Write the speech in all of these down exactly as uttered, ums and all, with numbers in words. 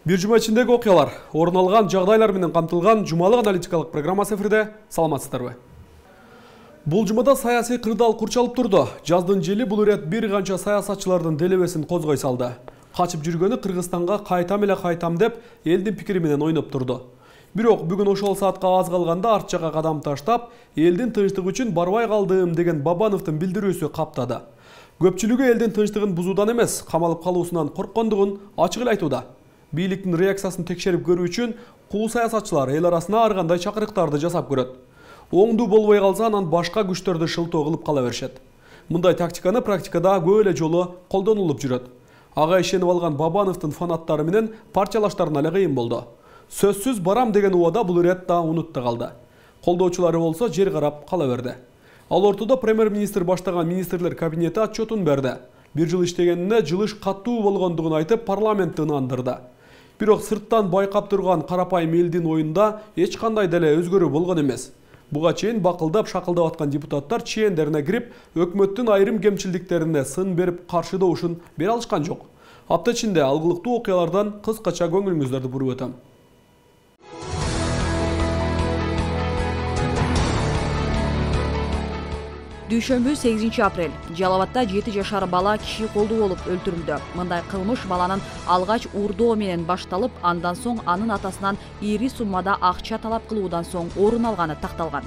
Бир жума ичиндеги окуялар, орун алган жагдайлар менен камтылган жумалык аналитикалык программасы эфирде. Саламатсыздарбы? Бул жумада саясий кырдаал курчалып турду. Жаздын жели бул ирет бир канча саясатчылардын делебесин козгой салды. Качып жүргөнү Кыргызстанга кайтам эле кайтам деп элдин пикири менен ойноп турду. Бирок бүгүн ошол саатка аз калганда арт жакка кадам таштап, элдин тынчтыгы үчүн барбай калдым деген Бабановдун билдирүүсү каптады. Көпчүлүгү элдин тынчтыгын бузуудан эмес, камалып калуусунан корккондугун ачык эле айтууда. Бийликтин реакциясын текшерип көрүү үчүн кул саясатчылар эл арасына ар кандай чакырыктарды жасап көрөт. Оңдуу болбой калса, анан башка күчтөрдү шылтоо кылып кала беришет. Мындай тактиканы практикада көп эле жолу колдонулуп жүрөт. Ага ишенип алган Бабановдун фанаттары менен парчалаштарына эле кыйын болду. Сөзсүз барам деген убада бул ирет да унутта калды. Колдоочулары болсо жер карап кала берди. Ал ортодо премьер-министр баштаган министрлер кабинети отчетун берди. Бир жыл иштегенине жылыш катуу болгондугун айтып, парламентти ынандырды. Бирок сырттан байкап турган карапайым элдин оюнда эч кандай деле өзгөрүү болгон эмес. Буга чейин бакылдап шакылдап аткан депутаттар чендерине кирип, өкмөттүн айрым кемчилдиктерине сын берип каршы добушун бере алышкан жок. Апта ичинде алгылыктуу окуялардан кыскача көңүлүңүздөрдү буруп өтөм. Дүйшөмбү сегизинчи апрель. Жалал-Абадда жети жашар бала киши колдуу болуп өлтүрүлдү. Мындай кылмыш баланын алгач урдоо менен башталып, андан соң анын атасынан ири суммада акча талап кылуудан соң орун алганы такталган.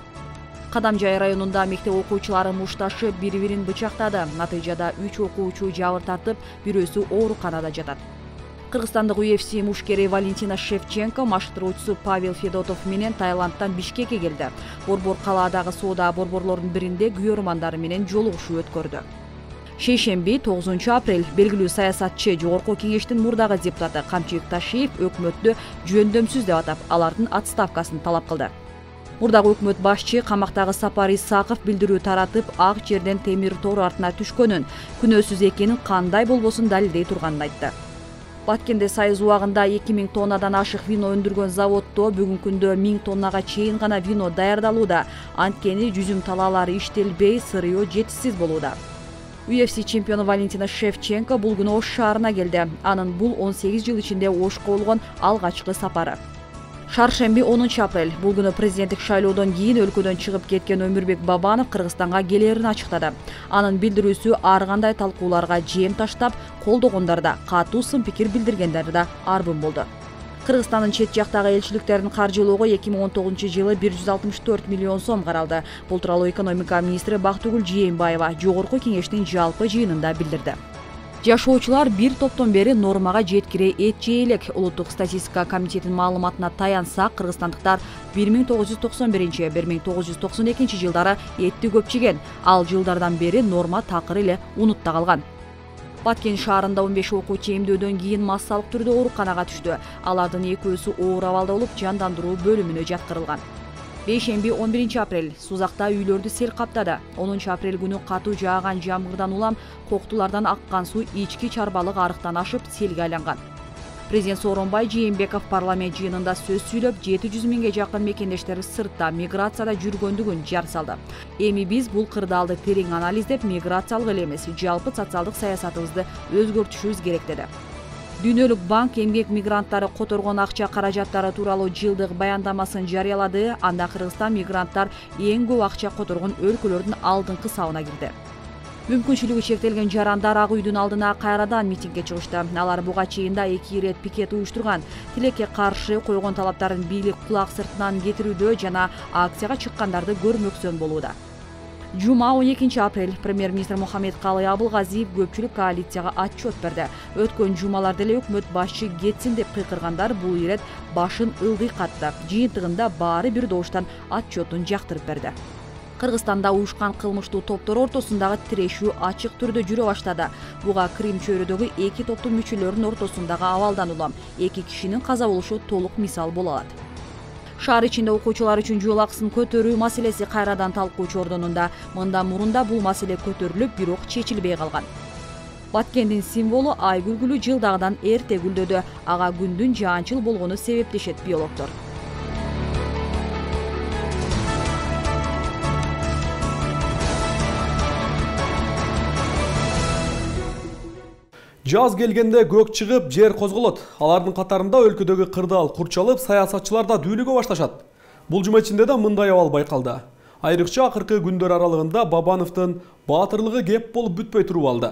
Кадамжай районунда мектеп окуучулары мушташып бири-бирин бычактады. Натыйжада үч окуучу жабыр тартып, бирөөсү ооруканада жатат. Кыргызстандык ю эф си мушкери Валентина Шевченко машыктыруучусу Павел Федотов менен Таиландтан Бишкекке келди. Борбор калаадагы соода борборлордун биринде күйөрмандары менен жолугушуу өткөрдү. Шейшемби тогузунчу апрель белгилүү саясатчы Жогорку кеңештин мурдагы депутаты Камчыбек Ташиев өкмөттү жөндөмсүз деп атап, алардын отставкасын талап кылды. Мурдагы өкмөт башчы камактагы Сапар Исаков билдирүү таратып, ак жерден темир тор артына түшкөнүн, күнөөсүз экенин кандай болбосун далилдей турганын айтты. Баткенде Союз убагында эки миң тоннадан ашык вино өндүргөн заводдо бүгүнкү күндө миң тоннага чейин гана вино даярдалууда. Анткени жүзүм талаалары иштелбей, сырыё жетишсиз болууда. ю эф си чемпиону Валентина Шевченко бул күнү Ош шаарына келди. Анын бул он сегиз жыл ичинде Ошко болгон алгачкы сапары. Шаршемби онунчу апрель. Бул күнү президенттик шайлоодон кийин өлкөдөн чыгып кеткен Өмүрбек Бабанов Кыргызстанга келерин ачыктады. Анын билдирүүсү ар кандай талкууларга жем таштап, колдогондар да, катуу сын пикир билдиргендер да арбын болду. Кыргызстандын чет жактагы элчиликтерин каржылоого эки миң он тогузунчу жылы бир жүз алтымыш төрт миллион сом каралды. Бул тууралуу экономика министри Бактыгүл Жээнбаева Жогорку кеңештин жалпы жыйынында билдирди. Жашоочулар бир топтон бери нормага жеткире эт жей элек. Улуттук статистика комитетинин маалыматына таянсак, кыргызстандыктар бир миң тогуз жүз токсон биринчи — бир миң тогуз жүз токсон экинчи жылдары этти көп жеген. Ал жылдардан бери норма такыр эле унутта калган. Баткен шаарында он беш окуучу эмдөөдөн кийин массалык түрдө ооруканага түштү. Алардын экөөсү оор абалда болуп, жандандыруу бөлүмүнө жаткырылган. Бейшемби он биринчи апрель. Сузакта үйлөрдү сел каптады. онунчу апрель күнү катуу жааган жамгырдан улам коктулардан аккан суу ички чарбалык арыктан ашып селге айланган. Президент Сооронбай Жээнбеков парламент жыйынында сөз сүйлөп, жети жүз миңге жакын мекендештер сыртта миграцияда жүргөндүгүн жар салды. Эми биз бул кырдаалды терең анализдеп, миграциялык эле эмес, жалпы социалдык саясатыбызды өзгөртүшүбүз керек деди. Дүйнөлүк банк эмгек мигранттары которгон акча каражаттары тууралуу жылдык баяндамасын жарыялады. Анда Кыргызстан мигранттар эң көп акча которгон өлкөлөрдүн алдыңкы сабына кирди. Мүмкүнчүлүгү чектелген жарандар Ак үйдүн алдына кайрадан митингге чыгышты. Алар буга чейин да эки ирет пикет уюштурган. Тилекке каршы койгон талаптарын бийлик кулак сыртынан кетирүүдө жана акцияга чыккандарды көрмөксөн болууда. Жума он экинчи апрель. Премьер-министр Мухаммедкалый Абылгазиев көпчүлүк коалицияга отчет берди. Өткөн жумаларда эле өкмөт башчы кетсин деп кыйкыргандар бул ирет башын ылдый катты. Жыйынтыгында баары бир добуштан отчетун жактырып берди. Кыргызстанда уюшкан кылмыштуу топтор ортосундагы тирешүү ачык түрдө жүрө баштады. Буга Крим чөйрөдөгү эки топтун мүчөлөрүнүн ортосундагы абалдан улам эки кишинин каза болушу толук мисал боло алат. Шаар ичинде окуучулар үчүн жол акысын көтөрүү маселеси кайрадан талкуу чордонунда. Мындан мурун да бул маселе көтөрүлүп, бирок чечилбей калган. Баткендин символу ай күлгүлү жылдагыдан эрте гүлдөдү. Ага күндүн жаанчыл болгону себептешет биологдор. Жаз келгенде көк чыгып, жер козголот. Алардын катарында өлкөдөгү кырдаал курчалып, саясатчылар да дүүлүгө башташат. Бул жума ичинде да мындай абал байкалды. Айрыкча акыркы күндөр аралыгында Бабановдун баатырлыгы кеп болуп бүтпөй туруп алды.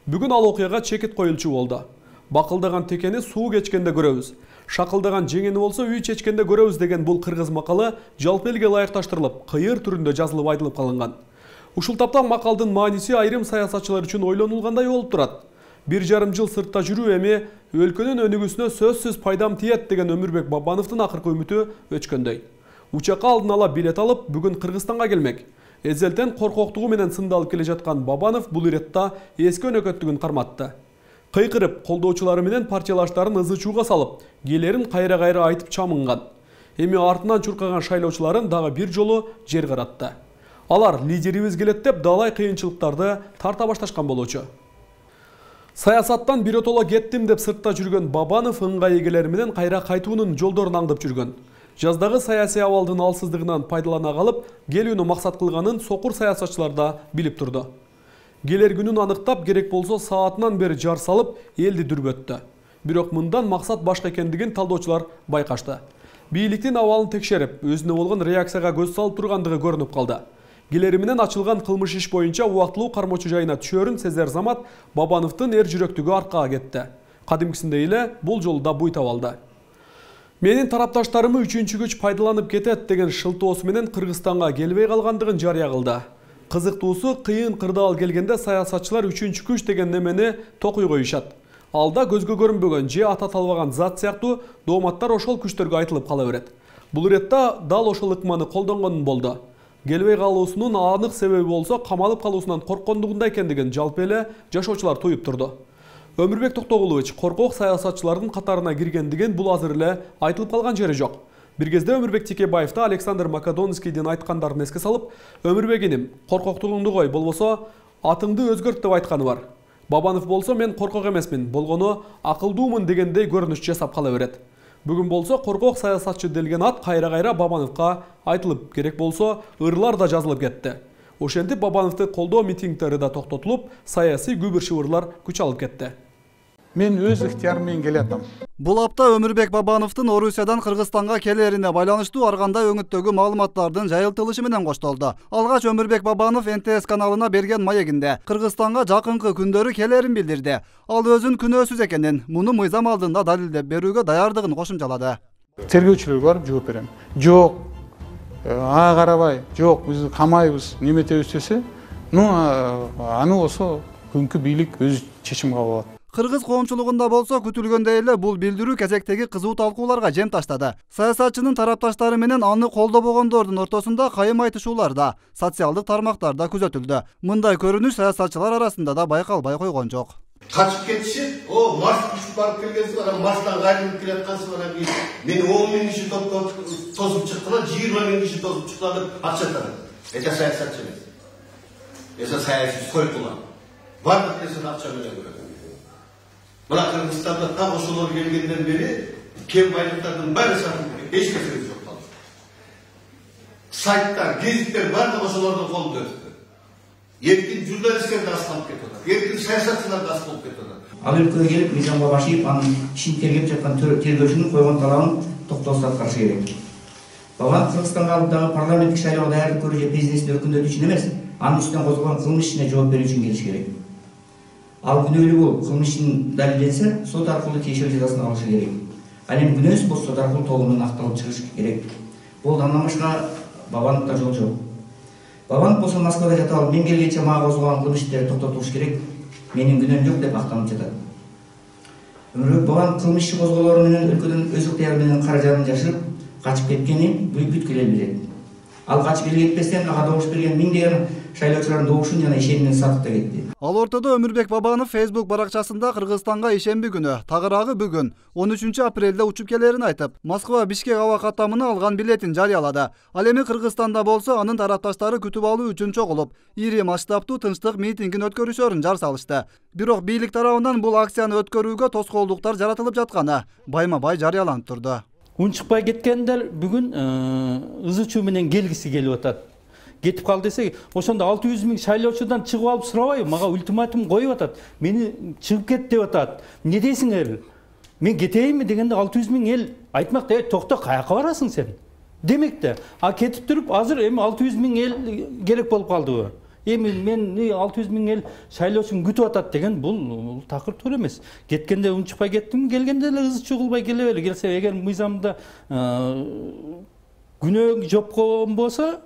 Бүгүн ал окуяга чекит коюлчу болду. Бакылдаган текени суу кечкенде көрөбүз. Шакылдаган жеңени болсо үй чечкенде көрөбүз деген бул кыргыз макалы жалпы элге ылайыкташтырылып, кыйыр түрүндө жазылып айтылып калынган. Ушул тапта макалдын мааниси айрым саясатчылар үчүн ойлонулгандай болуп турат. Бир жарым жыл сыртта жүрүү эми өлкөнүн өнүгүүсүнө сөзсүз пайдам тиет деген Өмүрбек Бабановдун акыркы үмүтү өчкөндөй. Учакка алдын ала билет алып, бүгүн Кыргызстанга келмек. Эзелтен коркоктугу менен сындалып келе жаткан Бабанов бул иретта эски өнөкөттүгүн карматты. Кыйкырып, колдоочулары менен партиялаштарын ызы-чууга салып, келерин кайра-кайра айтып чамынган. Эми артынан чуркаган шайлоочуларын дагы бир жолу жер каратты. Алар лидерибиз келет деп далай кыйынчылыктарды тарта башташкан болчу. Саясаттан биротоло кеттим деп сыртта жүргөн Бабанов ыңгай эгелери менен кайра кайтуунун жолдорун аңдып жүргөн. Жаздагы саясий абалдын алсыздыгынан пайдалана калып, келүүнү максат кылганын сокур саясатчылар да билип турду. Келер күнүн аныктап, керек болсо саатынан бери жар салып, элди дүрбөттү. Бирок мындан максат башка экендигин талдоочулар байкашты. Бийликтин абалын текшерип, өзүнө болгон реакцияга көз салып тургандыгы көрүнүп калды. Келери менен ачылган кылмыш иш боюнча убактылуу кармоочу жайына түшөрүн сезер замат Бабановдун эр жүрөктүгү аркага кетти. Кадимкисиндей эле бул жолу да буй таап алды. Менин тарапташтарымы үчүнчү күч пайдаланып кетет деген шылтоосу менен Кыргызстанга келбей калгандыгын жарыя кылды. Кызыктуусу, кыйын кырдаал келгенде саясатчылар үчүнчү күч деген немени токуй коюшат. Алда көзгө көрүнбөгөн же ата талбаган зат сыяктуу дооматтар ошол күчтөргө айтылып кала берет. Бул иретте дал ошол ыкманы колдонгон болду. Келбей калуусунун анык себеби болсо камалып калуусунан корккондугунда экендигин жалпы эле жашоочулар туюп турду. Өмүрбек Токтогулович коркок саясатчылардын катарына киргендигин бул азыр эле айтылып калган жери жок. Бир кезде Өмүрбек Текебаев да Александр Македонскийдин айткандарын эске салып, Өмүрбек иним, коркоктугуңду кой, болбосо атыңды өзгөрт деп айтканы бар. Бабанов болсо мен коркок эмесмин, болгону акылдуумун дегендей көрүнүш жасап кала берет. Бүгүн болсо коркок саясатчы делген ат кайра-кайра Бабановго айтылып, керек болсо ырлар да жазылып кетти. Ошентип Бабановду колдоо митингдери да токтотулуп, саясий күбүр-шыбырлар күч алып кетти. Мен өз ыктыярым менен келатам. Бул апта Өмүрбек Бабановдун Орусиядан Кыргызстанга келерине байланыштуу ар кандай өңүттөгү маалыматтардын жайылтылышы менен коштолду. Алгач Өмүрбек Бабанов эн тэ эс каналына берген маегинде Кыргызстанга жакынкы күндөрү келерин билдирди. Ал өзүн күнөөсүз экенин, муну мыйзам алдында далилдеп берүүгө даярдыгын кошумчалады. Тергөөчүлөргө барып жооп берем. Жок, ага карабай, жок, биз камайбыз, неметебиз десе, ну аны болсо күнкү бийлик өз чечим кабыл алат. Кыргыз коомчулугунда болсо күтүлгөндөй эле бул билдирүү кезектеги кызуу талкууларга жем таштады. Саясатчынын тарапташтары менен аны колдобогондордун ортосунда кайым айтышуулар да, социалдык тармактарда күзөтүлдү. Мындай көрүнүш саясатчылар арасында да байкалбай койгон жок. Качып кетиши, о Марс күчүп барып келгенсиң, анан Марстан кайрылып келаткансың, анан кийин мени он миң киши тосуп чыктылар, жыйырма миң киши тосуп чыктылар деп акча атады. Эче саясатчы эмес. Эсе саясий сойкулар. Бардык нерсени акча менен көрөт. Мына Кыргызстанда так ошолор келгенден бери кен байлыктардын баары сатылып, эч нерсе жок калды. Сайттар, гезиттер баардыгы ошолордун колунда өттү. Эркин журналисттер да асталып кетип атат. Эркин саясатчылар да асталып кетип атат. Ал өлкөгө келип мыйзамга башыйып, анын ишин тергеп жаткан тергөөчүнүн койгон талабын токтосуз аткарышы керек. Бабанов Кыргызстанга алып дагы парламенттик шайлоого даярдык көрүү же бизнесин өркүндөтүү үчүн эмес, анын үстүнөн козголгон кылмыш ишине жооп берүү үчүн келиш керек. Ал күнөөлүү болуп, кылмыш ишин далилденсе, сот аркылуу тиешелүү жазасын алышы керек. Ал эми күнөөсүз болсо сот аркылуу толугу менен акталып чыгыш керек. Бул андан башка Бабановдо жол жок. Бабанов болсо Москвада жатып алып, мен келгенче мага козголгон кылмыш иштери токтотулуш керек, менин күнөөм жок деп актанып жатат. Өмүрбек Бабанов кылмыш иши козголору менен өлкөдөн өз ыктыяры менен каражатын жашырып, качып кеткенин бүткүл эл билет. Ал качып элге кетпестен ага добуш берген миңдеген шайлоочулардын добушун жана ишенимин сатып да кетти. Ал ортодо Өмүрбек Бабанов Facebook баракчасында Кыргызстанга ишемби күнү, тагыраагы бүгүн он үчүнчү апрелде учуп келерин айтып, Москва Бишкек аба каттамына алган билетин жарыялады. Ал эми Кыргызстанда болсо анын тарапташтары күтүп алуу үчүн чогулуп, ири масштабтуу тынчтык митингин өткөрүшөрүн жар салышты. Бирок бийлик тарабынан бул акцияны өткөрүүгө тоскоолдуктар жаратылып жатканы байма-бай жарыяланып турду. Унчукпай кеткендер бүгүн ызы чуу менен келгиси келип атат. кетип кал десе, ошондо алты жүз миң шайлоочудан чыгып алып сурабайбы? Мага ультиматум коюп атат. Мени чыгып кет деп атат. Не дейсиңер? Мен кетейинби дегенде алты жүз миң эл айтмак, "Эй, токто, каяка барасың сен?" Демек да, а кетип туруп азыр эми алты жүз миң эл керек болуп калдыбы? Эми мен алты жүз миң ел шайлоочун күтүп атат деген бул такыр туура эмес. Кеткенде унчукпай кеттим, келгенде эле ызы чугулбай келе бери. Келсе, эгер мыйзамда күнөө жоккон болсо,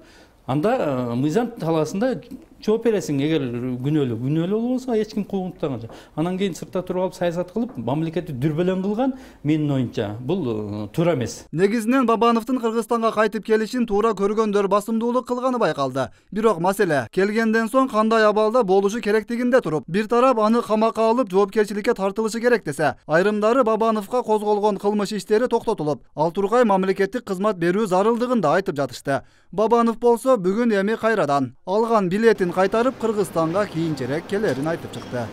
анда мыйзам талаасында жооп бересиң. Эгер күнөөлүү, күнөөлүү болбосо эч ким куугунтаган жок. Анан кийин сыртта туруп алып саясат кылып, мамлекетти дүрбөлөң кылган менин оюмча бул туура эмес. Негизинен Бабановдун Кыргызстанга кайтып келишин туура көргөндөр басымдуулук кылганы байкалды. Бирок маселе келгенден соң кандай абалда болушу керектигинде туруп, бир тарап аны камакка алып жоопкерчиликке тартылышы керек десе, айрымдары Бабановго козголгон кылмыш иштери токтотулуп, ал тургай мамлекеттик кызмат берүү зарылдыгын да айтып жатышты. Бабанов болсо бүгүн эми кайрадан алган билетин кайтарып Кыргызстанга кийинчерээк келерин айтып чыкты.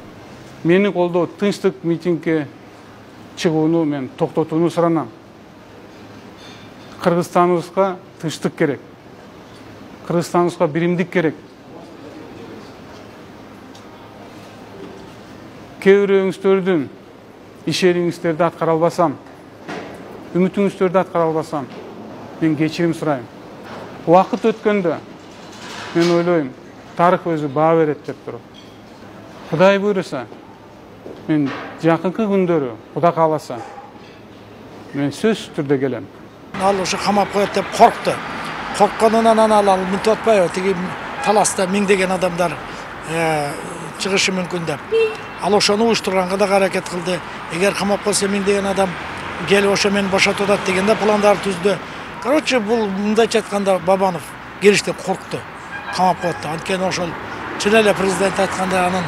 Мени колдоо тынчтык митингге чыгууну мен токтотууну суранам. Кыргызстаныбызга тынчтык керек. Кыргызстаныбызга биримдик керек. Кээ бирөөңүздөрдүн ишериңиздерди аткара албасам, үмүтүңүздөрдү аткара албасам, мен кечирим сурайм. Убакыт өткөндө мен ойлойм, тарых өзү баа берет деп туруп. Кудай буйруса, мен жакынкы күндөрү, Кудай кааласа, мен сөзсүз түрдө келем. Ал ошо камап коет деп коркту. Коркконунан анан ал мынтип атпайбы, тиги таласта миңдеген адамдар чыгышы мүмкүн деп. Ал ошону уюштурганга да аракет кылды. Эгер камап койсо миңдеген адам келип ошо мени бошотуп атат дегенде пландар түздү. Короче, бул мындайча айтканда Бабанов кириштен коркту. Камап коет. Анткени ошол чын эле президент айткандай анын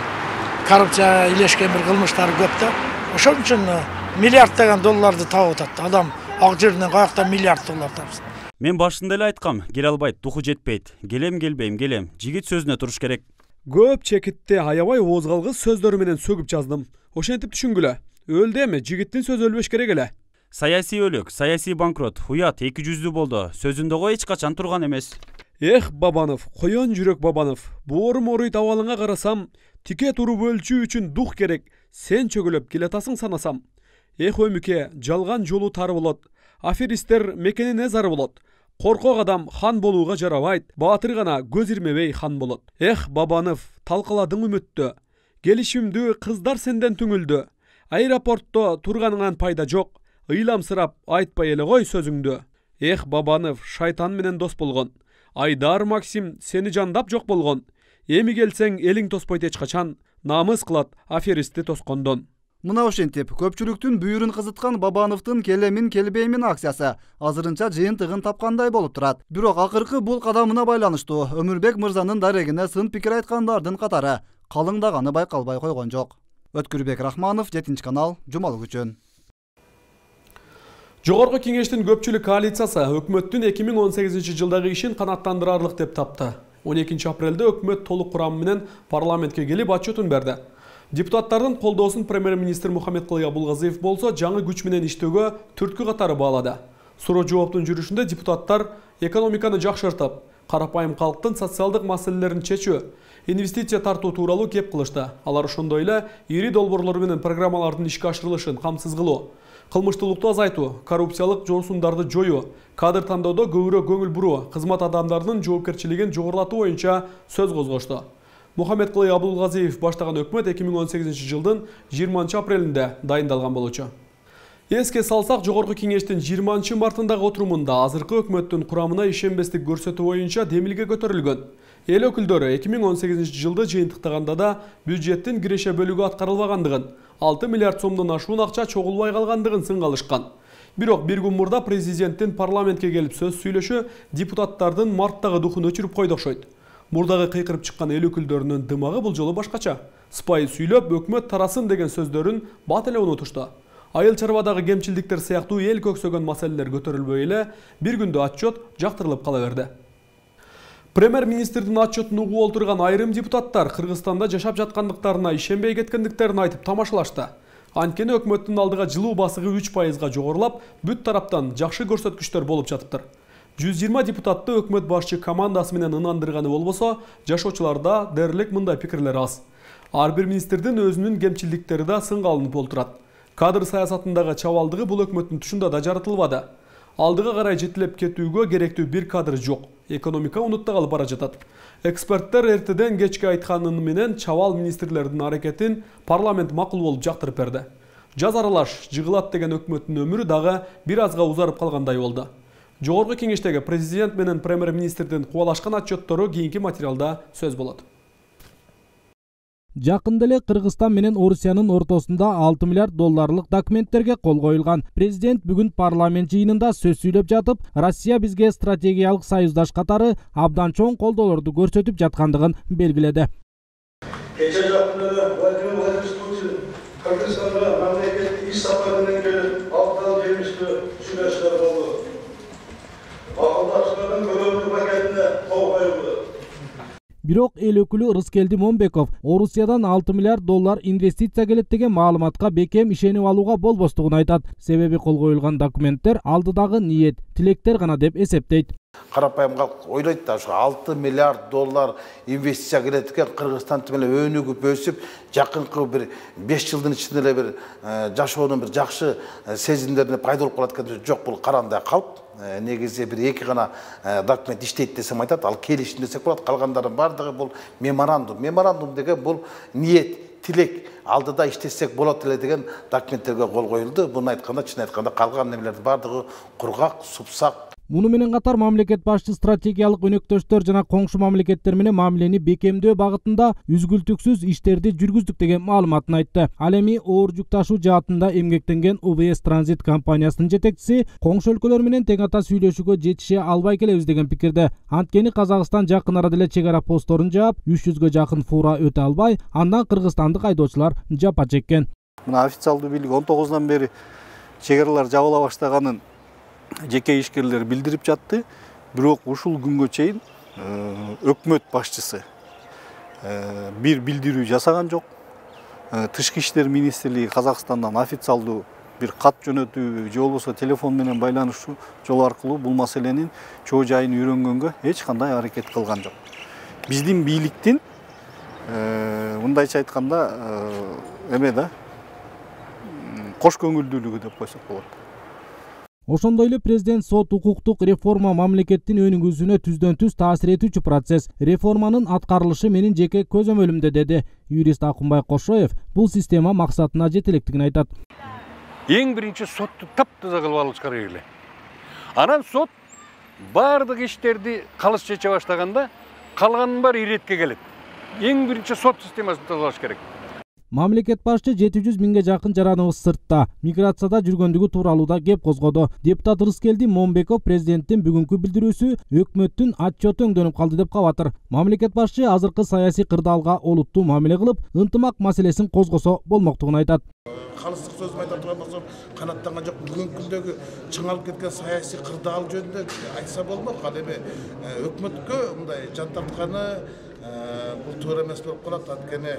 коррупция илешкен бир кылмыштары көп да. Ошон үчүн миллиарддаган долларды таап атат. Адам ак жерден каяктан миллиард доллар тапсын. Мен башында эле айткам, келе албайт, духу жетпейт. Келем, келбейм, келем. Жигит сөзүнө туруш керек. Көп чекитти аябай ооз калгыс сөздөрү менен сөгүп жаздым. Ошентип түшүнгүлө. Өлдү эми, жигиттин сөзү өлбөш керек эле. Саясий өлүк, саясий банкрот, уят, эки жүздүү болду. Сөзүндөгү эч качан турган эмес. Эх, Бабанов, коён жүрөк Бабанов. Боорум оройт абалыңа карасам, тике туруп өлчүү үчүн дух керек. Сен чөгөлөп келатасың санасам. Эх, өмүке, жалган жолу тар болот. Аферистер мекенине зар болот. Коркок адам хан болууга жарабайт. Баатыр гана көз ирмебей хан болот. Эх, Бабанов, талкаладың үмүттү. Келишимдүү кыздар сенден түңүлдү. Аэропортто турганыңан пайда жок. Ыйламсырап айтпай эле кой сөзүңдү. Эх, Бабанов, шайтан менен дос болгон. Айдар Максим сени жандап жок болгон. Эми келсең элиң тоспойт эч качан. Намыс кылат аферистти тоскондон. Мына ошентип көпчүлүктүн бүйүрүн кызыткан Бабановдун келемин келбеймин акциясы азырынча жыйынтыгын тапкандай болуп турат. Бирок акыркы бул кадамына байланыштуу Өмүрбек мырзанын дарегине сын пикир айткандардын катары калыңдаганы байкалбай койгон жок. Өткүрбек Рахманов, жетинчи канал, жумалык үчүн. Жогорку кеңештин көпчүлүк коалициясы өкмөттүн эки миң он сегизинчи жылдагы ишин канааттандырарлык деп тапты. он экинчи апрелде өкмөт толук курамы менен парламентке келип отчетун берди. Депутаттардын колдоосун премьер-министр Мухаммедкулай Абулгазиев болсо жаңы күч менен иштөөгө түрткү катары баалады. Суроо жооптун жүрүшүндө депутаттар экономиканы жакшыртып, карапайым калктын социалдык маселелерин чечүү, инвестиция тартуу тууралуу кеп кылышты. Алар ошондой эле ири долбоорлор менен программалардын ишке ашырылышын камсыз кылуу, кылмыштуулукту азайтуу, коррупциялык жолсундарды жоюу, кадр тандоодо көбүрөөк көңүл буруу, кызмат адамдарынын жоопкерчилигин жогорулатуу боюнча сөз козгошту. Мухаммедкулай Абулгазиев баштаган өкмөт эки миң он сегизинчи жылдын жыйырманчы апрелинде дайындалган болчу. Эске салсак, жогорку кеңештин жыйырманчы мартындагы отурумунда азыркы өкмөттүн курамына ишенбестик көрсөтүү боюнча демилге көтөрүлгөн. Эл өкүлдөрү эки миң он сегизинчи жылды жыйынтыктаганда да бюджеттин киреше бөлүгү аткарылбагандыгын, алты миллиард сомдон ашуун акча чогулбай калгандыгын сынга алышкан. Бирок бир күн мурда президенттин парламентке келип сөз сүйлөшү депутаттардын марттагы духун өчүрүп койду окшойт. Мурдагы кыйкырып чыккан эл өкүлдөрүнүн дымагы бул жолу башкача. Сыпайы сүйлөп, өкмөт тарасын деген сөздөрүн бат эле унутушту. Айыл чарбадагы кемчилдиктер сыяктуу эл көксөгөн маселелер көтөрүлбөй эле бир күндө отчет жактырылып кала берди. Премьер-министрдин отчетун угуп олтурган айрым депутаттар Кыргызстанда жашап жаткандыктарына ишенбей кеткендиктерин айтып тамашалашты. Анткени өкмөттүн алдыга жылуу басыгы үч пайызга жогорулап, бүт тараптан жакшы көрсөткүчтөр болуп жатыптыр. жүз жыйырма депутатты өкмөт башчы командасы менен ынандырганы болбосо, жашоочуларда дээрлик мындай пикирлер аз. Ар бир министрдин өзүнүн кемчиликтери да сынга алынып олтурат. Кадр саясатындагы чабалдыгы бул өкмөттүн тушунда да жаратылбады. Алдыга карай жетилеп кетүүгө керектүү бир кадр жок. Экономика унутта калып бара жатат. Эксперттер эртеден кечке айтканы менен чабал министрлердин аракетин парламент макул болуп жактырып берди. Жаз аралаш жыгылат деген өкмөттүн өмүрү дагы бир азга узарып калгандай болду. Жогорку кеңештеги президент менен премьер-министрдин кубалашкан отчеттору кийинки материалда сөз болот. Жакында эле Кыргызстан менен Орусиянын ортосунда алты миллиард долларлык документтерге кол коюлган. Президент бүгүн парламент жыйынында сөз сүйлөп жатып, Россия бизге стратегиялык союздаш катары абдан чоң колдоолорду көрсөтүп жаткандыгын белгиледи. Кече жакында Владимир Владимирович Путин Кыргызстанга мамлекеттик иш сапары менен келип, абдан жемиштүү сүйлөшүүлөр болду. Макулдашуулардын көрөмдүү пакетине кол коюлду. Бирок эл өкүлү Рыскелди Момбеков Орусиядан алты миллиард доллар инвестиция келет деген маалыматка бекем ишенип алууга болбостугун айтат. Себеби кол коюлган документтер алдыдагы ниет, тилектер гана деп эсептейт. Карапайым калк ойлойт да, ушу алты миллиард доллар инвестиция келет экен, Кыргызстан менен өнүгүп өсүп, жакынкы бир беш жылдын ичинде эле бир жашоонун бир жакшы сезимдерине пайда болуп калат экен. Жок, бул карандай калп. Негизи бир эки гана документ иштейт десем айтат, ал келишим десек болот. Калгандардын бардыгы бул меморандум. Меморандум деген бул ниет, тилек, алдыда иштесек болот эле деген документтерге кол коюлду. Буну айтканда, чын айтканда калган немелердин бардыгы кургак, супсак. Муну менен катар мамлекет башчы стратегиялык өнөктөштөр жана коңшу мамлекеттер менен мамилени бекемдөө багытында үзгүлтүксүз иштерди жүргүздүк деген маалыматын айтты. Ал эми оор жүк ташуу жаатында эмгектенген У В С Транзит компаниясынын жетекчиси коңшу өлкөлөр менен тең ата сүйлөшүүгө жетише албай келебиз деген пикирде. Анткени Казакстан жакын арада эле чек ара постторун жаап, үч жүзгө жакын фура өтө албай, андан кыргызстандык айдоочулар жапа чеккен. Мына официалдуу бийлик он тогузунан бери чек аралар жабыла баштаганын жеке ишкерлер билдирип жатты. Бирок ушул күнгө чейин өкмөт башчысы бир билдирүү жасаган жок. Тышкы иштер министрлиги Казакстандан официалдуу бир кат жөнөтүү же болбосо телефон менен байланышуу жол аркылуу бул маселенин чоо жайын үйрөнгөнгө эч кандай аракет кылган жок. Биздин бийликтин мындайча айтканда эме да кош көңүлдүүлүгү деп койсок болот. Ошондой эле президент сот укуктук реформа мамлекеттин өнүгүүсүнө түздөн түз таасир этүүчү процесс. Реформанын аткарылышы менин жеке көзөмөлүмдө деди. Юрист Акунбай Кошоев бул система максатына жете электигин айтат. Эң биринчи сотту таптаза кылып алыш керек эле. Анан сот бардык иштерди калыс чече баштаганда калганын баары иретке келет. Эң биринчи сот системасын тазалаш керек. Мамлекет башчы жети жүз миңге жакын жараныбыз сыртта, миграцияда жүргөндүгү тууралуу да кеп козгоду. Депутат Рыскелди Момбеков президенттин бүгүнкү билдирүүсү өкмөттүн отчету өңдөнүп калды деп кабатыр. Мамлекет башчы азыркы саясий кырдаалга олуттуу мамиле кылып, ынтымак маселесин козгосо болмоктугун айтат. Калыстык сөзүм айта турган болсом, канаттанган жок. Бүгүнкү күндөгү чыңалып кеткен саясий кырдаал жөнүндө айтса болмок. Ал эми өкмөткө мындай жан тартканы бул туура эмес болуп калат. Анткени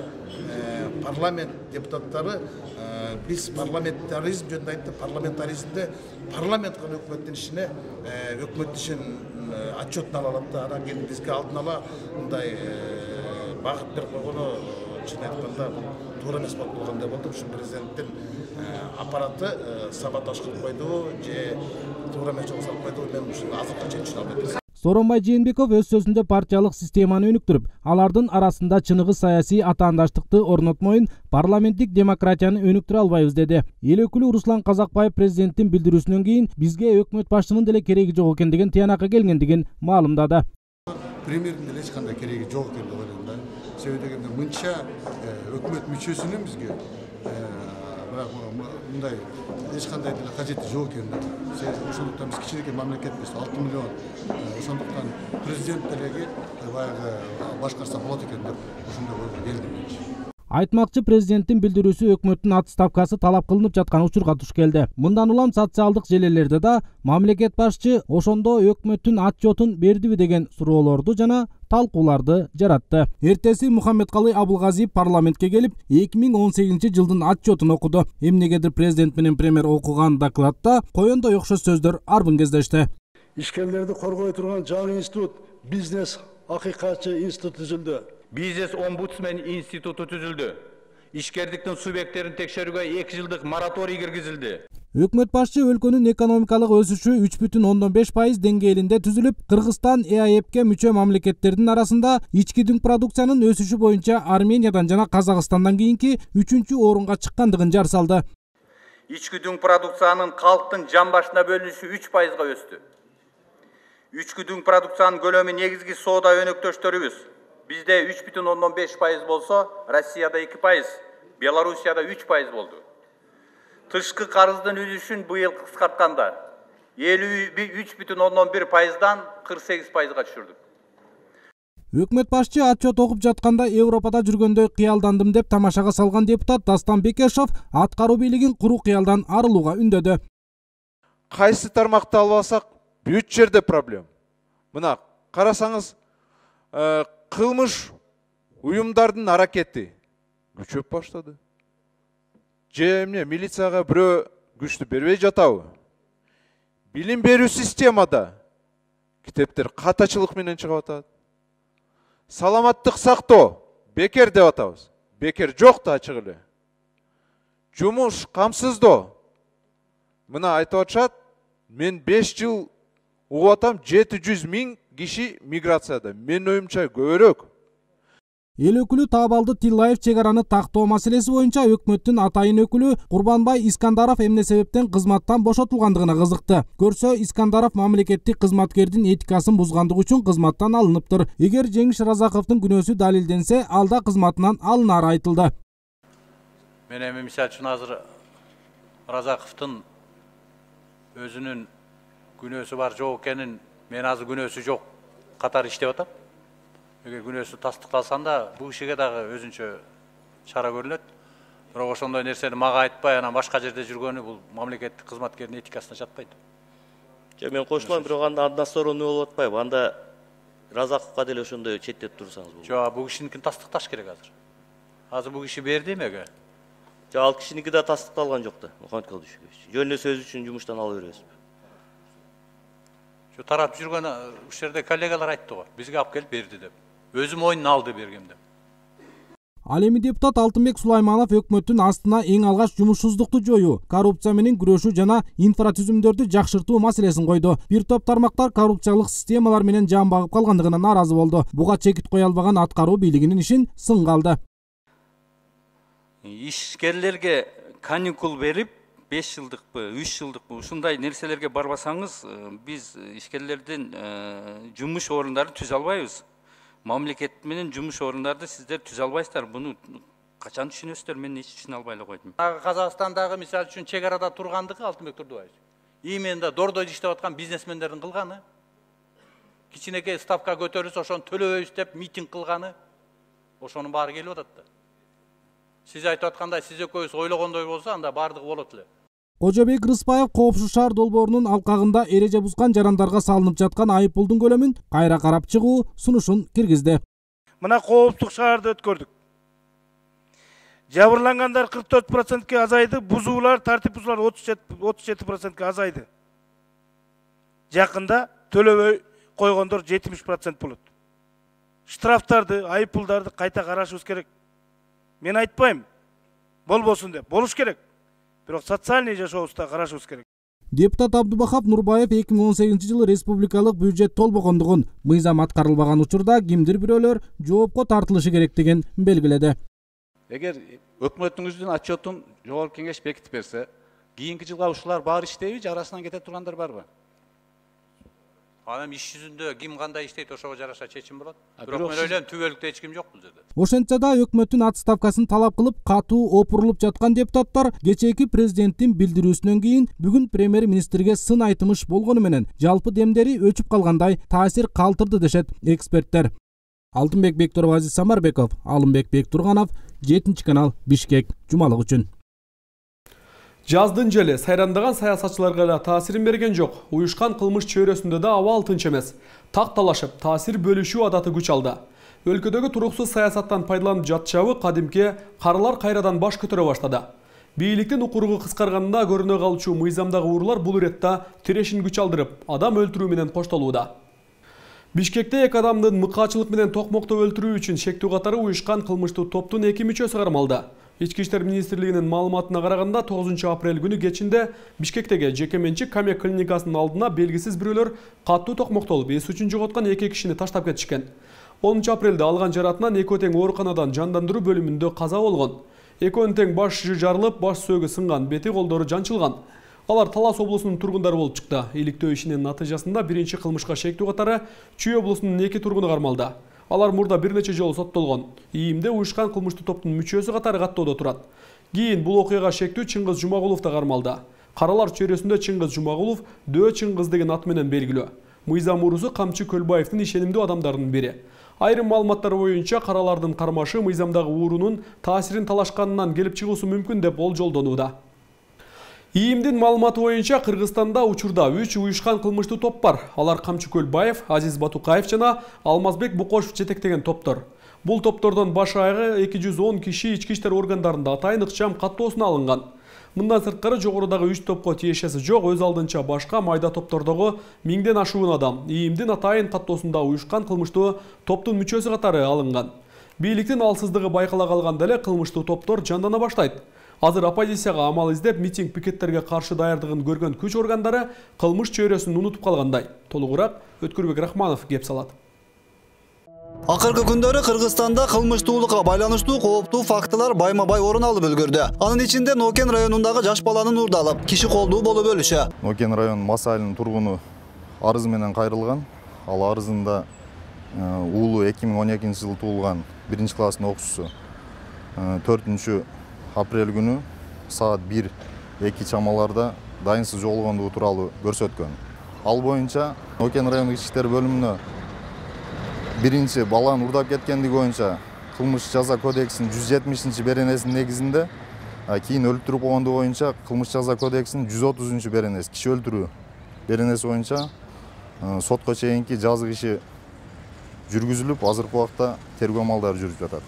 парламент депутаттары биз парламентаризм жөнүндө айтты. Парламентаризмде парламент гана өкмөттүн ишине, өкмөт ишин отчетун ала алат да. Анан кийин бизге алдын ала мындай багыт берип койгону чын айтканда туура эмес болуп калгандай болду. Ушу президенттин аппараты саботаж кылып койду же туура эмес жолго салып койду. Мен ушуну азыркы чейин түшүнө албайм. Сооронбай Жээнбеков өз сөзүндө партиялык системаны өнүктүрүп, алардын арасында чыныгы саясий атаандаштыкты орнотмоюн, парламенттик демократияны өнүктүрө албайбыз деди. Эл өкүлү Руслан Казакбаев президенттин билдирүүсүнөн кийин бизге өкмөт башчынын деле кереги жок экендигин тыянакка келгендигин маалымдады. Премьердин деле эч кандай кереги жок экен деп ойлойм да. Себеби дегенде мынча өкмөт мүчөсүнүн бизге бирок мындай эч кандай деле кажети жок экен да. Ошондуктан биз кичинекей мамлекетпиз, алты миллион. Ошондуктан президент делеги баягы башкарса болот экен деп ошондой ойго келдим. Айтмакчы президенттин билдирүүсү өкмөттүн отставкасы талап кылынып жаткан учурга туш келди. Мындан улам социалдык желелерде да мамлекет башчы ошондо өкмөттүн отчетун бердиби деген суроолорду жана талкууларды жаратты. Эртеси Мухаммедкалый Абылгазиев парламентке келип, эки миң он сегизинчи жылдын отчетун окуду. Эмнегедир президент менен премьер окуган докладта коёндой окшош сөздөр арбын кездешти. ишкерлерди коргой турган жаңы институт бизнес акыйкатчы институт түзүлдү. Бизнес омбудсмен институту түзүлдү. Ишкердиктин субъекттерин текшерүүгө эки жылдык мораторий киргизилди. Өкмөт башчы өлкөнүн экономикалык өсүшү үч бүтүн ондон беш пайыз деңгээлинде түзүлүп, Кыргызстан Э А Э П'ке мүчө мамлекеттердин арасында ички дүң продукциянын өсүшү боюнча Армениядан жана Казакстандан кийинки үчүнчү орунга чыккандыгын жар салды. Ички дүң продукциянын калктын жан башына бөлүнүшү үч пайызга өстү. Ички дүң продукциянын көлөмү негизги соода өнөктөштөрүбүз бизде үч бүтүн ондон беш пайыз болсо, Россияда эки пайыз, Белоруссияда үч пайыз болду. Тышкы карыздын үлүшүн быйыл кыскартканда элүү үч бүтүн ондон бир пайыздан кырк сегиз пайызга түшүрдүк. Өкмөт башчы отчет окуп жатканда Европада жүргөндөй кыялдандым деп тамашага салган депутат Дастан Бекешов аткаруу бийлигин куру кыялдан арылууга үндөдү. Кайсы тармакты албасак, бүт жерде проблема. Мына карасаңыз, кылмыш уюмдардын аракети күчөп баштады. Же эмне милицияга бирөө күчтү бербей жатабы? Билим берүү системада китептер катачылык менен чыгып атат. Саламаттык сактоо бекер деп атабыз. Бекер жок да ачык эле. Жумуш камсыздоо. Мына айтып атышат, мен беш жыл угуп атам, жети жүз миң киши миграцияда. Мен оюмча көбүрөөк. Эл өкүлү Таабалды Тиллаев чек араны тактоо маселеси боюнча өкмөттүн атайын өкүлү Курбанбай Искандаров эмне себептен кызматтан бошотулгандыгына кызыкты. Көрсө, Искандаров мамлекеттик кызматкердин этикасын бузгандыгы үчүн кызматтан алыныптыр. Эгер Жеңиш Разаковдун күнөөсү далилденсе, алда кызматынан алынары айтылды. Мен эми мисалы үчүн азыр Разаковдун өзүнүн күнөөсү бар жок экенин, мен азыр күнөөсү жок катары иштеп атам. Эгер күнөөсү тастыкталсан да, бул кишиге дагы өзүнчө чара көрүлөт. Бирок ошондой нерсени мага айтпай, анан башка жерде жүргөнү бул мамлекеттик кызматкердин этикасына жатпайт. Же мен кошулам, бирок анда односторонний болуп атпайбы? Анда Разаковго деле ошондой четтеп турсаңыз болот. Жок, бул кишиникин тастыкташ керек азыр. Азыр бул киши берди эмеге? Жок, ал кишиники да тастыкталган жок да, Мухаммед Калдышевич. Жөн эле сөз үчүн жумуштан алып беребизби? Жо тарап жүргөн ушул жерде коллегалар айтты го, бизге алып келип берди деп. Өзү мойнуна алды бергем деп. Ал эми депутат Алтынбек Сулайманов өкмөттүн астына эң алгач жумушсуздукту жоюу, коррупция менен күрөшүү жана инфратүзүмдөрдү жакшыртуу маселесин койду. Бир топ тармактар коррупциялык системалар менен жан багып калгандыгына нааразы болду. Буга чекит кое албаган аткаруу бийлигинин ишин сынга алды. Ишкерлерге каникул берип, беш жылдыкпы, үч жылдыкпы ушундай нерселерге барбасаңыз, биз ишкерлердин жумуш орундарын түзө албайбыз. Мамлекет менен жумуш орундарды сиздер түзө албайсыздар. Буну качан түшүнөсүздөр? Мен эч түшүнө албай эле койдум. Казакстандагы мисалы үчүн чек арада тургандыгы Алтынбек Турдубаевич. Именно дордой иштеп аткан бизнесмендердин кылганы. Кичинекей ставка көтөрүлсө ошону төлөбөйбүз деп митинг кылганы. Ошонун баары келип атат да. Сиз айтып аткандай, сиз экөөбүз ойлогондой болсо, анда баардыгы болот эле. Кожобек Рыспаев Коопсуз шаар долбоорунун алкагында эреже бузган жарандарга салынып жаткан айыппулдун көлөмүн кайра карап чыгуу сунушун киргизди. Мына Коопсуздук шаарды өткөрдүк. Жабырлангандар кырк төрт процентке азайды, бузуулар, тартип бузуулар отуз жети процентке азайды. Жакында төлөбөй койгондор жетимиш процент болот. Штрафтарды, айыппулдарды кайта карашыбыз керек. Мен айтпайм, болбосун деп, болуш керек. Бирок социальный жашообузда карашыбыз керек. Депутат Абдубахап Нурбаев эки миң он сегизинчи жылы республикалык бюджет толбогондугун, мыйзам аткарылбаган учурда кимдир бирөөлөр жоопко тартылышы керектигин белгиледи. Эгер өкмөтүңүздүн отчетун жогорку кеңеш бекитип берсе, кийинки жылга ушулар баары иштейби же арасынан кете тургандар барбы? Анан иш жүзүндө ким кандай иштейт, ошого жараша чечим болот. Бирок мен ойлойм, түбөлүктө эч ким жок бул жерде. Ошентсе да өкмөттүн отставкасын талап кылып катуу опурулуп жаткан депутаттар кечээки президенттин билдирүүсүнөн кийин бүгүн премьер-министрге сын айтымыш болгону менен жалпы демдери өчүп калгандай таасир калтырды дешет эксперттер. Алтынбек Бектуров, Азиз Самарбеков, Алымбек Бектурганов, жетинчи канал, Бишкек, жумалык үчүн. Жаздын желе сайрандаган саясатчыларга да таасирин берген жок. Уюшкан кылмыш чөйрөсүндө да абал тынч эмес. Так талашып, таасир бөлүшүү адаты күч алды. Өлкөдөгү туруксуз саясаттан пайдаланып жатчабы кадимки карылар кайрадан баш көтөрө баштады. Бийликтин укуругу кыскарганында көрүнө калчу мыйзамдагы уруулар бул иретте тирешин күч алдырып, адам өлтүрүү менен коштолууда. Бишкекте эки адамдын мыкаачылык менен токмоктоп өлтүрүү үчүн шектүү катары уюшкан кылмыштуу топтун эки мүчөсү кармалды. Ички иштер министрлигинин маалыматына караганда тогузунчу апрель күнү кечинде Бишкектеги жеке менчик Камек клиникасынын алдына белгисиз бирөөлөр каттуу токмоктолуп, эс үчүн жоготкон эки кишини таштап кетишкен. онунчу апрелде алган жаратынан экөө тең ооруканадан жандандыруу бөлүмүндө каза болгон. Экөөнүн тең баш жарылып, баш сөөгү сынган, бети колдору жанчылган. Алар Талас облусунун тургундары болуп чыкты. Иликтөө ишинин натыйжасында биринчи кылмышка шектүү катары Чүй облусунун эки тургуну кармалды. Алар мурда бир нече жолу соттолгон. ИИМде уюшкан кылмыштуу топтун мүчөсү катары каттоодо турат. Кийин бул окуяга шектүү Чыңгыз Жумагулов да кармалды. Каралар чөйрөсүндө Чыңгыз Жумагулов Дөө Чыңгыз деген ат менен белгилүү. Мыйзам уурусу Камчы Көлбаевдин ишенимдүү адамдарынын бири. Айрым маалыматтар боюнча каралардын кармашы мыйзамдагы уурунун таасирин талашканынан келип чыгуусу мүмкүн деп болжолдонууда. ИИМдин маалыматы боюнча Кыргызстанда учурда үч уюшкан кылмыштуу топ бар. Алар Камчы Көлбаев, Азиз Батукаев жана Алмазбек Букошев жетектеген топтор. Бул топтордон баш айгы эки жүз он киши ички иштер органдарында атайын ыкчам каттоосуна алынган. Мындан сырткары жогорудагы үч топко тиешеси жок, өз алдынча башка майда топтордогу миңден ашуун адам ИИМдин атайын каттоосунда уюшкан кылмыштуу топтун мүчөсү катары алынган. Бийликтин алсыздыгы байкала калганда эле кылмыштуу топтор жандана баштайт. Азыр оппозицияга амал издеп митинг пикеттерге каршы даярдыгын көргөн күч органдары кылмыш чөйрөсүн унутуп калгандай. Толугураак Өткүрбек Рахманов кеп салат. Акыркы күндөрү Кыргызстанда кылмыштуулукка байланыштуу кооптуу фактылар байма-бай орун алып үлгүрдү. Анын ичинде Нокен районундагы жаш баланын уурдалып, киши колдуу болуп өлүшү. Нокен район Мас айылынын тургуну арыз менен кайрылган. Ал арызында уулу эки миң он экинчи жылы туулган биринчи класстын окуучусу төртүнчү апрель күнү саат бир эки чамаларда дайынсыз жоголгондугу тууралуу көрсөткөн. Ал боюнча Нокен райондук ички иштер бөлүмүнө биринчи баланы урдап кеткендиги боюнча кылмыш жаза кодексинин жүз жетимишинчи беренесинин негизинде, кийин өлтүрүп койгондугу боюнча кылмыш жаза кодексинин жүз отузунчу беренеси киши өлтүрүү беренеси боюнча сотко чейинки жазык иши жүргүзүлүп, азыркы убакта тергөө амалдары жүрүп жатат.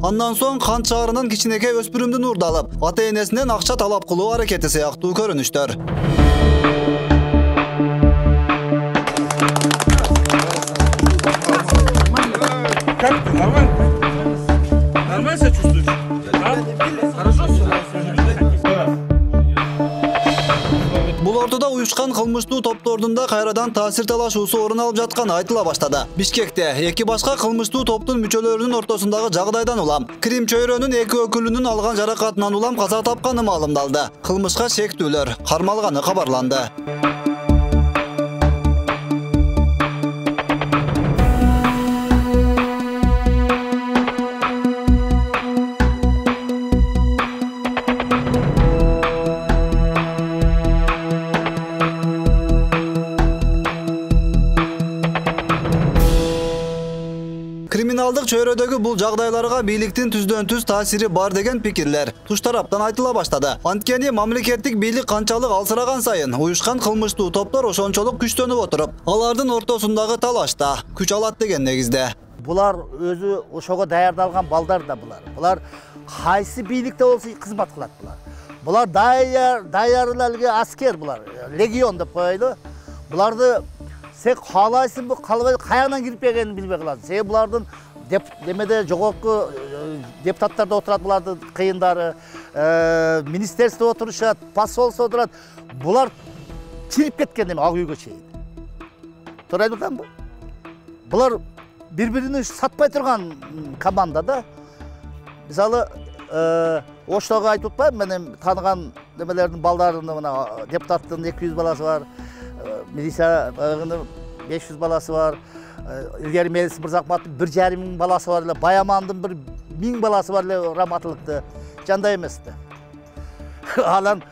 Андан соң Кант шаарынын кичинекей өспүрүмдүн уурдалып, ата-энесинен акча талап кылуу аракети сыяктуу көрүнүштөр. Бул ортодо уюшкан кылмыштуу топтордун да кайрадан таасир талашуусу орун алып жатканы айтыла баштады. Бишкекте эки башка кылмыштуу топтун мүчөлөрүнүн ортосундагы жагдайдан улам Крим чөйрөнүн эки өкүлүнүн алган жаракатынан улам каза тапканы маалымдалды. Кылмышка шектүүлөр кармалганы кабарланды. Криминалдык чөйрөдөгү бул жагдайларга бийликтин түздөн түз таасири бар деген пикирлер туш тараптан айтыла баштады. Анткени мамлекеттик бийлик канчалык алсыраган сайын уюшкан кылмыштуу топтор ошончолук күчтөнүп отуруп, алардын ортосундагы талашта күч алат деген негизде. Булар өзү ошого даярдалган балдар да булар. Булар кайсы бийликте болсо кызмат кылат булар. Булар даяр даярдалган аскер булар, легион деп коелу. Буларды сен каалайсыңбы, каалабай каягынан кирип келгенин билбей каласың. Сен булардын деп немеде жогорку депутаттарда отурат, булардын кыйындары, министерство отурушат, посольство отурат. Булар чирип кеткен эме ак үйгө чейин. Туура айтып атамбы? Булар бири-бирин сатпай турган команда да. Мисалы, Оштого айтып атпайбы, мен тааныган немелердин балдарынын мына депутаттын эки жүз баласы бар. Милициянын беш жүз баласы бар. Илгери Мелис Мырзакматтын бир жарым миң баласы бар эле, Баямандын бир миң баласы бар эле раматылыкты. Жандай эмес-ти. Анан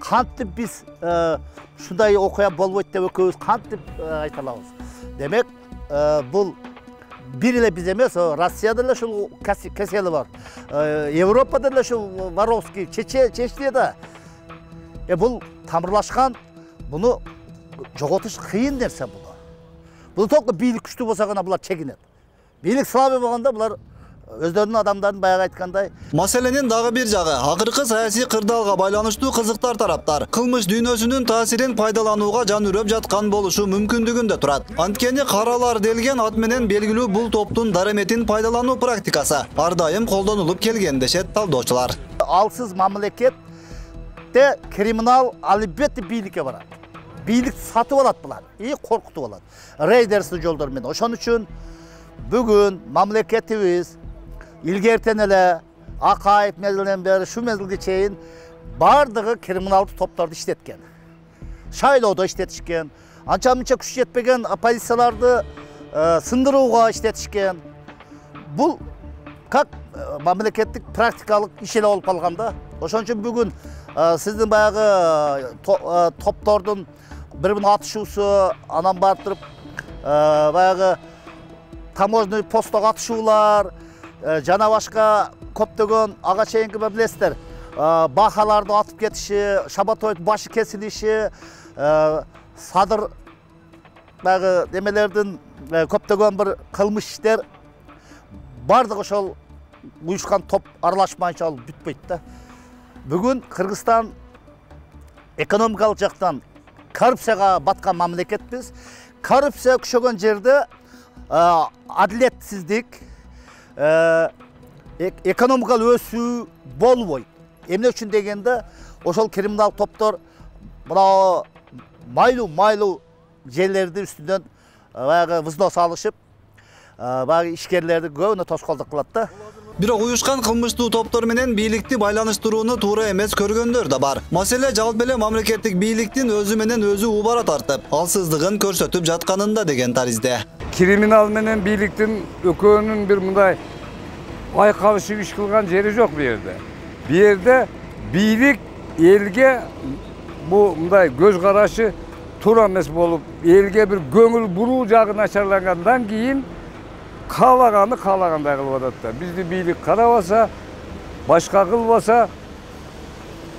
кантип биз ушундай окуя болбойт деп экөөбүз кантип айта алабыз? Демек, бул бир эле биз эмес, Россияда эле ушул кесели бар. Европада эле ушул Воровский, Чечняда. Э бул тамырлашкан, буну жоготуш кыйын нерсе буну. Бул только бийлик күчтүү болсо гана булар чегинет. Бийлик слабый болгондо булар өздөрүнүн адамдарын баягы айткандай. Маселенин дагы бир жагы акыркы саясий кырдаалга байланыштуу кызыктар тараптар кылмыш дүйнөсүнүн таасирин пайдаланууга жан үрөп жаткан болушу мүмкүндүгүндө турат. Анткени каралар делген ат менен белгилүү бул топтун дареметин пайдалануу практикасы ар дайым колдонулуп келген дешет талдоочулар. Алсыз мамлекетте криминал албетте бийликке барат. Бийлик сатып алат булар и коркутуп алат. Рейдерсиз жолдор менен. Ошон үчүн бүгүн мамлекетибиз илгертен эле Акаев мезгилинен бери шу мезгилге чейин бардыгы криминалдык топторду иштеткен. Шайлоодо иштетишкен, анча мынча күч жетпеген оппозицияларды сындырууга иштетишкен. Бул как мамлекеттик практикалык иш эле болуп калган да. Ошон үчүн бүгүн сиздин баягы топтордун бири-бирин атышуусу, анан бартырып баягы таможный посттогу атышуулар, жана башка көптөгөн ага чейинки билесиздер, бахаларды атып кетиши, Шабатоевдун башы кесилиши, садыр баягы немелердин көптөгөн бир кылмыш иштер бардыгы ошол уюшкан топ аралашмайынча ал бүтпөйт да. Бүгүн Кыргызстан экономикалык жактан коррупцияга баткан мамлекетпиз. Коррупция күчөгөн жерде адилетсиздик, экономикалык өсүү болбойт. Эмне үчүн дегенде, ошол криминал топтор мына майлуу-майлуу жерлерди үстүнөн баягы взнос алышып, баягы ишкерлерди көбүнө тоскоолдук кылат да. Бирок уюшкан кылмыштуу топтор менен бийликти байланыштырууну туура эмес көргөндөр да бар. Маселе жалпы эле мамлекеттик бийликтин өзү менен өзү убара тартып, алсыздыгын көрсөтүп жатканында деген таризде. Криминал менен бийликтин экөөнүн бир мындай айкалышып иш кылган жери жок бу жерде. Бу жерде бийлик элге бу мындай көз карашы туура эмес болуп, элге бир көңүл буруу жагы начарлагандан кийин каалаганы каалагандай кылып атат да. Бизди бийлик карабаса, башка кылбаса,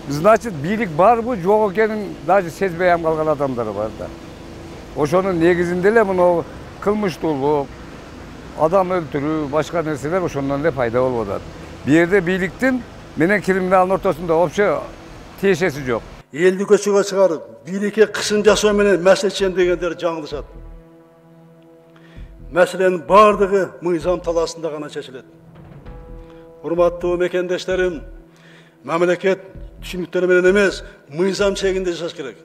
значит бийлик барбы жок экенин даже сезбей ам калган адамдар бар да. Ошонун негизинде эле мына кылмыштуулук, адам өлтүрүү, башка нерселер ошондон эле пайда болуп атат. Бу жерде бийликтин менен криминалдын ортосунда вообще тиешеси жок. Элди көчөгө чыгарып, бийликке кысым жасоо менен маселе чечем дегендер жаңылышат. Мәселенин бардыгы мыйзам талаасында гана чечилет. Урматтуу мекендештерим, мамлекет түшүнүктөр менен эмес, мыйзам чегинде жашаш керек.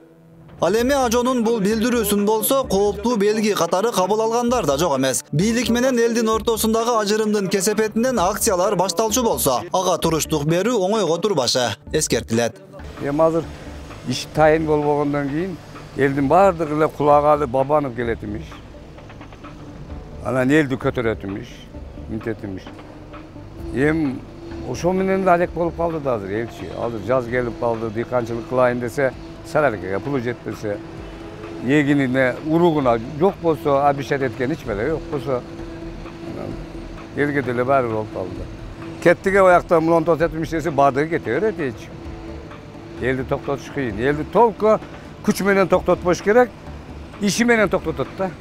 Ал эми Ажонун бул билдирүүсүн болсо, кооптуу белги катары кабыл алгандар да жок эмес. Бийлик менен элдин ортосундагы ажырымдын кесепетинен акциялар башталчу болсо, ага туруштук берүү оңойго турбашы эскертилет. Эми азыр иш тайын болбогондон кийин элдин бардыгы эле кулагы бабанып келет имиш. Анан элди көтөрөт имиш, мынтет имиш. Эми ошо менен да алек болуп калды да азыр элчи. Азыр жаз келип калды, дыйканчылык кылайын десе, саралыкка пулу жетпесе, эгинине, уругуна жок болсо, обещать эткен эч беле жок болсо, элге деле баары болуп калды. Кеттиге оякта мулон тосет имиш десе, бардыгы кете берет эч. Элди токтотуш кыйын. Элди толку күч менен токтотпош керек, иши менен токтотот да.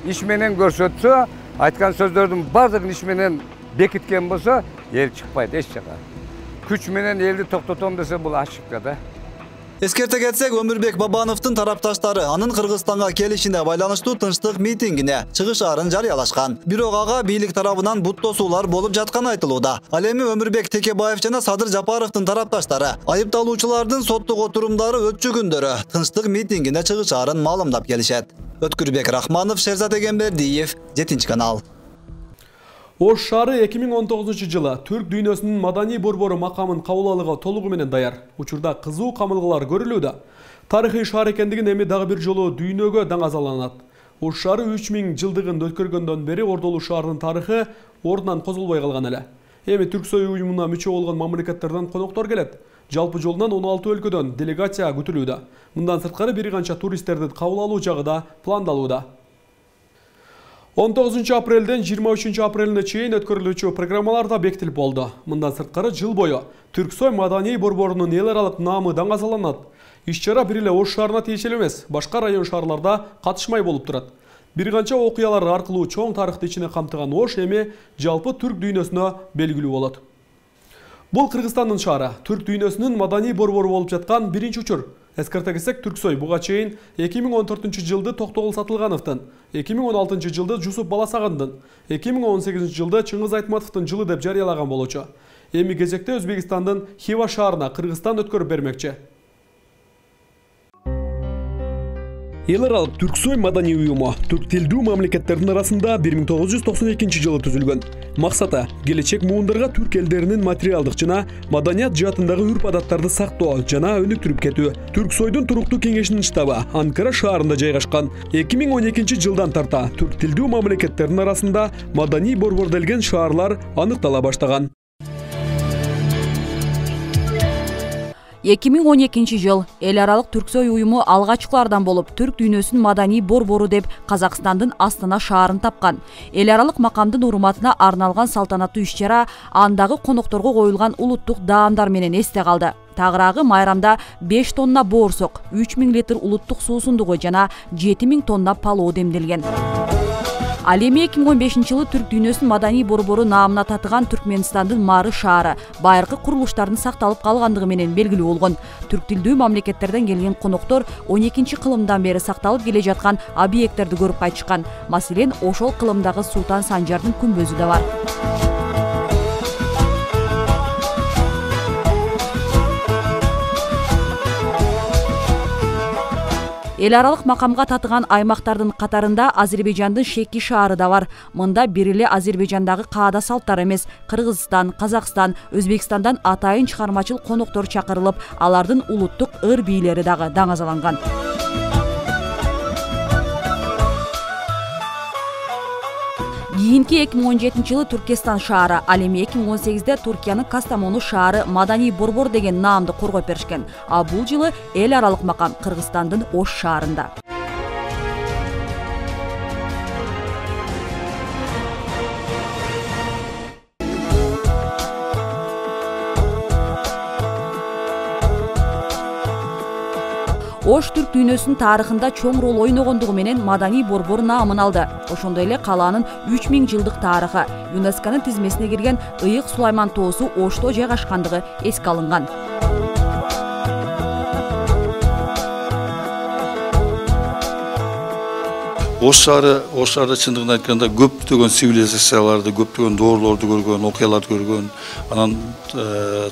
Иш менен көрсөтсө, айткан сөздөрдүн бардыгын иш менен бекиткен болсо, эл чыкпайт эч жака. Күч менен элди токтотом десе, бул ошибка да. Эскерте кетсек, Өмүрбек Бабановдун тарапташтары анын Кыргызстанга келишине байланыштуу тынчтык митингине чыгышаарын жарыялашкан. Бирок ага бийлик тарабынан бут тосуулар болуп жатканы айтылууда. Ал эми Өмүрбек Текебаев жана Садыр Жапаровдун тарапташтары айыпталуучулардын соттук отурумдары өтчү күндөрү тынчтык митингине чыгышаарын маалымдап келишет. Өткүрбек Рахманов, Шерзат Эгембердиев, жетинчи канал. Ош шаары эки миң он тогузунчу жылы түрк дүйнөсүнүн маданий борбору макамын кабыл алууга толугу менен даяр. Учурда кызуу камылгалар көрүлүүдө. Тарыхый шаар экендигин эми дагы бир жолу дүйнөгө даңазаланат. Ош шаары үч миң жылдыгын өткөргөндөн бери Ордолуу шаарынын тарыхы ордунан козулбой калган эле. Эми Түрксой уюмуна мүчө болгон мамлекеттерден коноктор келет. Жалпы жолунан он алты өлкөдөн делегация күтүлүүдө. Мындан сырткары бир канча туристтерди кабыл алуу жагы да пландалууда. он тогузунчу апрелден жыйырма үчүнчү апрелине чейин өткөрүлүүчү программалар да бекитилип болду. Мындан сырткары жыл бою Түрксой маданий борборунун эл аралык наамы даңазаланат. Иш-чара бир эле Ош шаарына тиешелүү эмес, башка район шаарларда катышмай болуп турат. Бир канча окуялар аркылуу чоң тарыхты ичине камтыган Ош эми жалпы түрк дүйнөсүнө белгилүү болот. Бул Кыргызстандын шаары, түрк дүйнөсүнүн маданий борбору болуп жаткан биринчи учур. Эскерте кетсек, Түрксой буга чейин эки миң он төртүнчү жылды Токтогул Сатылгановдун, эки миң он алтынчы жылды Жусуп Баласагандын, эки миң он сегизинчи жылды Чыңгыз Айтматовдун жылы деп жарыялаган болчу. Эми кезекте Өзбекстандын Хива шаарына Кыргызстан өткөрүп бермекчи. Эл аралык Түрксой маданий уюму түрк тилдүү мамлекеттердин арасында бир миң тогуз жүз токсон экинчи жылы түзүлгөн. Максаты келечек муундарга түрк элдеринин материалдык жана маданият жаатындагы үрп-адаттарды сактоо жана өнүктүрүп кетүү. Түрксойдун туруктуу кеңешинин штабы Анкара шаарында жайгашкан. эки миң он экинчи жылдан тарта түрк тилдүү мамлекеттердин арасында маданий борбор делген шаарлар аныктала баштаган. эки миң он экинчи жыл эл аралык Түрксой уюму алгачкылардан болуп түрк дүйнөсүнүн маданий борбору деп Казакстандын Астана шаарын тапкан. Эл аралык макамдын урматына арналган салтанаттуу иш-чара андагы конокторго коюлган улуттук даамдар менен эсте калды. Тагыраагы майрамда беш тонна боорсок, үч миң литр улуттук суусундугу жана жети миң тонна палоо демделген. Ал эми эки миң он бешинчи жылы түрк дүйнөсүнүн маданий борбору наамына татыган Түркмөнстандын Мары шаары байыркы курулуштардын сакталып калгандыгы менен белгилүү болгон. Түрк тилдүү мамлекеттерден келген коноктор он экинчи кылымдан бери сакталып келе жаткан объекттерди көрүп кайтышкан. Маселен, ошол кылымдагы Султан Санжардын күмбөзү да бар. Эл аралык макамга татыган аймактардын катарында Азербайжандын Шеки шаары да бар. Мында бир эле Азербайжандагы каада салттар эмес, Кыргызстан, Казакстан, Өзбекстандан атайын чыгармачыл коноктор чакырылып, алардын улуттук ыр бийлери дагы даңазаланган. Кийинки эки миң он жетинчи жылы Туркестан шаары, ал эми эки миң он сегизде Туркиянын Кастамону шаары маданий борбор деген наамды коргоп беришкен. А бул жылы эл аралык макам Кыргызстандын Ош шаарында. Ош түрк дүйнөсүнүн тарыхында чоң рол ойногондугу менен маданий борбор наамын алды. Ошондой эле калаанын үч миң жылдык тарыхы, ЮНЕСКОнун тизмесине кирген Ыйык Сулайман тоосу Ошто жайгашкандыгы эске алынган. Ош шаары, Ош шаары чындыгын айтканда көптөгөн цивилизацияларды, көптөгөн доорлорду көргөн, окуяларды көргөн, анан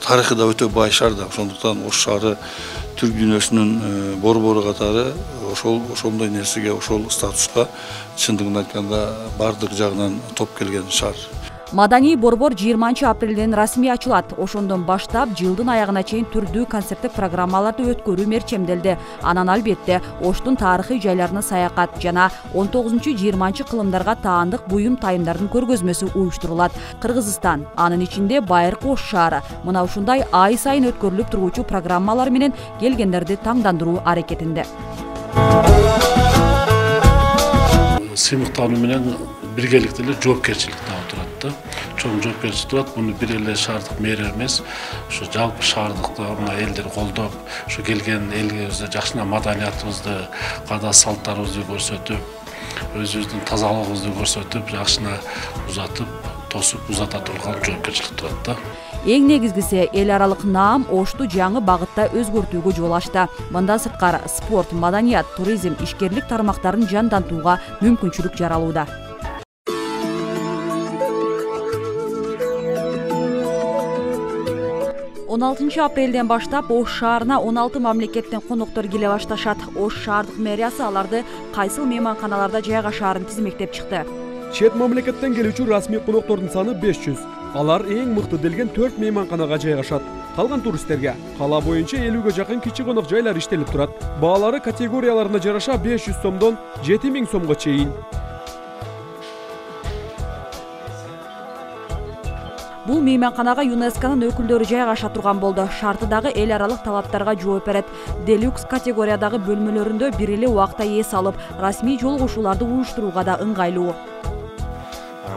тарыхы да өтө бай шаар да. Ошондуктан Ош шаары түрк дүйнөсүнүн борбору катары ошол ошондой нерсеге, ошол статуска чындыгын айтканда бардык жагынан топ келген шаар. Маданий борбор жыйырманчы апрелден расмий ачылат. Ошондон баштап жылдын аягына чейин түрдүү концерттик программаларды өткөрүү мерчемделди. Анан албетте Оштун тарыхый жайларына саякат жана он тогузунчу жыйырманчы кылымдарга таандык буюм тайымдардын көргөзмөсү уюштурулат. Кыргызстан, анын ичинде байыркы Ош шаары мына ушундай ай сайын өткөрүлүп тургучу программалар менен келгендерди таңдандыруу аракетинде. Сыймыктануу менен биргеликте эле жоопкерчилик дагы турат да. Чоң жоопкерчилик турат. Муну бир эле шаардык мэр эмес, ушу жалпы шаардыкта мына элдер колдоп, ушу келген элибизде жакшына маданиятыбызды, каада салттарыбызды көрсөтүп, өзүбүздүн тазалыгыбызды көрсөтүп, жакшына узатып, тосуп узата турган жоопкерчилик турат да. Эң негизгиси эл аралык наам Ошту жаңы багытта өзгөртүүгө жол ачты. Мындан сырткары спорт, маданият, туризм, ишкерлик тармактарын жандантууга мүмкүнчүлүк жаралууда. он алтынчы апрелден баштап Ош шаарына он алты мамлекеттен коноктор келе башташат. Ош шаардык мэриясы аларды кайсыл мейманканаларда жайгашаарын тизмектеп чыкты. Чет мамлекеттен келүүчү расмий коноктордун саны беш жүз. Алар эң мыкты делген төрт мейманканага жайгашат. Калган туристтерге кала боюнча элүүгө жакын кичи конок жайлар иштелип турат. Баалары категорияларына жараша беш жүз сомдон жети миң сомго чейин. Бул мейманканага ЮНЕСКОнун өкүлдөрү жайгаша турган болду. Шарты дагы эл аралык талаптарга жооп берет. Делюкс категориядагы бөлмөлөрүндө бир эле убакта эс алып, расмий жолугушууларды уюштурууга да ыңгайлуу.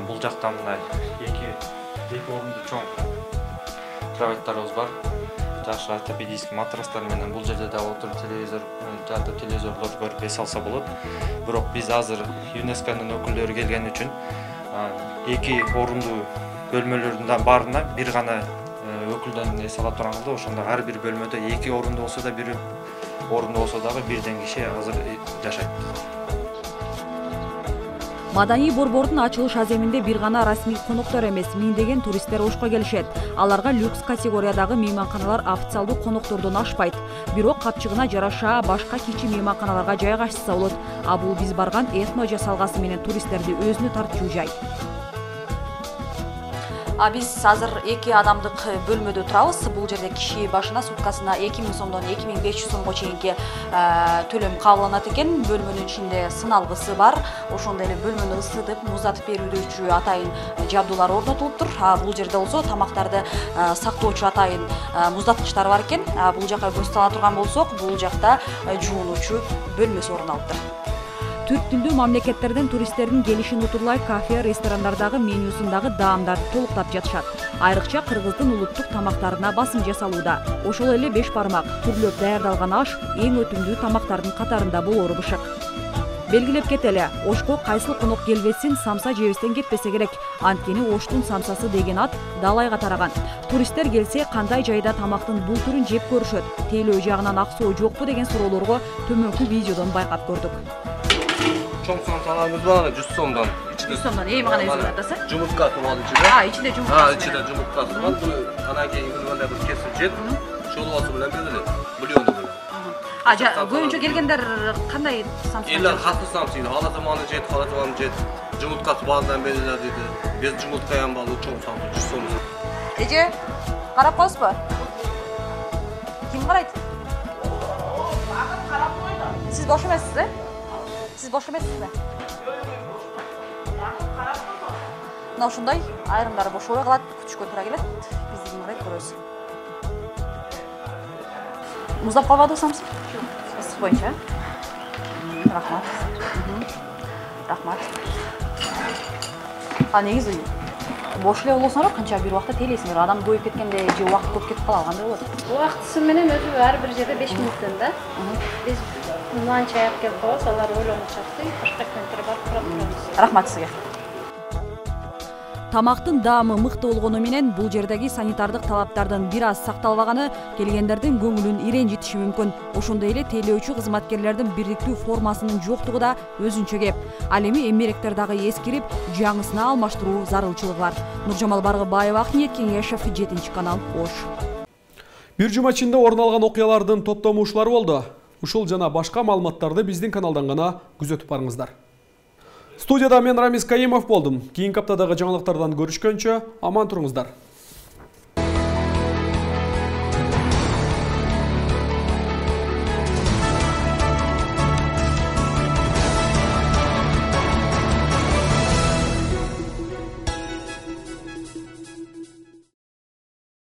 Бул жакта мындай эки эки орунду чоң кроваттарыбыз бар. жакшы ортопедический матрастар менен бул жерде да отуруп телевизор жатып телевизорлорду көрүп эс алса болот. Бирок биз азыр ЮНЕСКОнун өкүлдөрү келген үчүн эки орундуу бөлмөлөрдүн баарына бир гана өкүлдөн эс ала турганда, ошондо ар бир бөлмөдө эки орунду болсо да, бир орунду болсо дагы бирден киши азыр жашайт. Маданий борбордун ачылыш аземинде бир гана расмий коноктор эмес, миңдеген туристтер ошко келишет. Аларга люкс категориядагы мейманканалар официалдуу коноктордон ашпайт. Бирок капчыгына жараша башка кичи мейманканаларга жайгашса болот. А бул биз барган этно жасалгасы менен туристтерди өзүнө тартчу жай. А биз азыр эки адамдык бөлмөдө турабыз. Бул жерде киши башына суткасына эки миң сомдон эки миң беш жүз сомго чейинки төлөм кабыланат экен. Бөлмөнүн ичинде сыналгысы бар. Ошондой эле бөлмөнү ысытып, муздатып берүүчү атайын жабдуулар орнотулуптур. А бул жерде болсо тамактарды сактоочу атайын муздаткычтар бар экен. Бул жака көз сала турган болсок, бул жакта жуунуучу бөлмөсү орун алыптыр. Түрк тилдүү мамлекеттерден туристтердин келишин утурлай кафе, ресторандардагы менюсундагы даамдарды толуктап жатышат. Айрыкча кыргыздын улуттук тамактарына басым жасалууда. Ошол эле беш бармак, түрлөп даярдалган аш эң өтүмдүү тамактардын катарында болору бышык. Белгилеп кетели, Ошко кайсыл конок келбесин самса жебестен кетпесе керек. Анткени Оштун самсасы деген ат далайга тараган. Туристтер келсе кандай жайда тамактын бул түрүн жеп көрүшөт. Тейлөө жагынан аксоо жокпу деген суроолорго төмөнкү видеодон байкап көрдүк. Чоң самсаларыбыз бар, жүз сомдон. жүз сомдон, эми гана өзүң атасы? Жумурткасы бар ичинде. А, ичинде жумурткасы. А, ичинде жумурткасы бар. Буну анан кийин мындай бир кесип жеп, шолубасы менен берели, бульону менен. А, көбүнчө келгендер кандай самса? Элдер хасты самсыйды, ала заманы жет, ала заманы жет. Жумурткасы бардан берелер дейди. Без жумурткаям бар, чоң самса жүз сом. Эже, карап коесузбу? Ким карайт? Сиз бош эмессиз, э? Siz boş emesiz mi? Mына ушундай айрымдары бошобой калат, күтүшкө туура келет. Биздин карайт көрөбүз. Муздап калбадыбы самсы? Ысык боюнча. Рахмат. Рахмат. А негизи бош эле болсоңор канча бир убакта тейлейсиңер. Адам коюп кеткенде же убакыт көп кетип калат, кандай болот? Убактысы менен өзү ар бир жерде беш мүнөттөн да. Биз нан чаяп келип коебуз, алар ойлонуп жатты, башка клиенттер барып турат турабыз. Рахмат сизге. Тамактын даамы мыкты болгону менен бул жердеги санитардык талаптардын бир аз сакталбаганы келгендердин көңүлүн иренжитиши мүмкүн. Ошондой эле тейлөөчү кызматкерлердин бирдиктүү формасынын жоктугу да өзүнчө кеп. Ал эми эмеректер дагы эскирип, жаңысына алмаштыруу зарылчылыгы бар. Нуржамал Баргыбаева, Акниет Кеңешев, жетинчи канал, Ош. Бир жума ичинде орун алган окуялардын топтомушулары болду. Ушул жана башка маалыматтарды биздин каналдан гана күзөтүп барыңыздар. Студияда мен Рамис Каимов болдум. Кийинки аптадагы жаңылыктардан көрүшкөнчө аман туруңуздар.